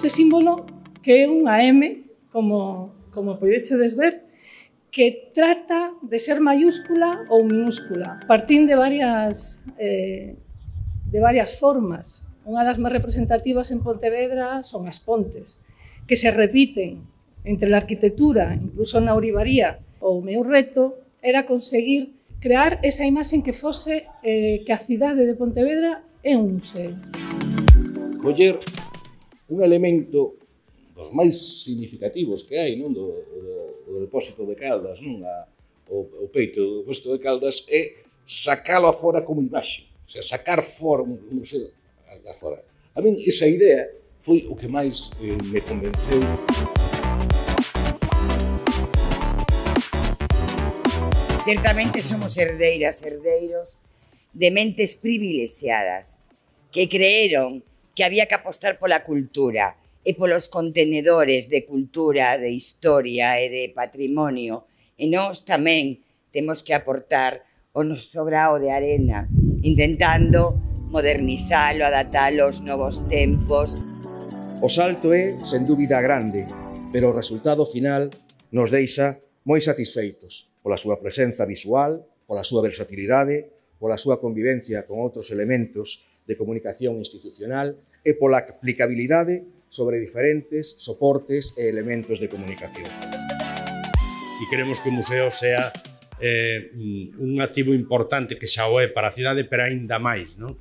este símbolo que é unha M, como podechedes ver, que trata de ser maiúscula ou minúscula. Partín de varias formas. Unha das máis representativas en Pontevedra son as pontes, que se repiten entre a arquitectura, incluso na ourivaría. O meu reto era conseguir crear esa imaxe que fose que a cidade de Pontevedra é un museo. Coller un elemento dos máis significativos que hai, non, do depósito de Caldas, non, o peito do depósito de Caldas, é sacalo afora como imaxe, o sea, sacar fora un museo afora. A min esa idea foi o que máis me convenceu. Certamente somos herdeiras, herdeiros de mentes privilexiadas que creeron que había que apostar pola cultura e polos contenedores de cultura, de historia e de patrimonio. E nós tamén temos que aportar o noso grao de arena, intentando modernizalo, adaptalo aos novos tempos. O salto é, sen dúbida, grande, pero o resultado final nos deixa moi satisfeitos pola súa presenza visual, pola súa versatilidade, pola súa convivencia con outros elementos de comunicación institucional e pola aplicabilidade sobre diferentes soportes e elementos de comunicación. E queremos que o museo sea un activo importante que xa o é para a cidade, pero aínda máis, non?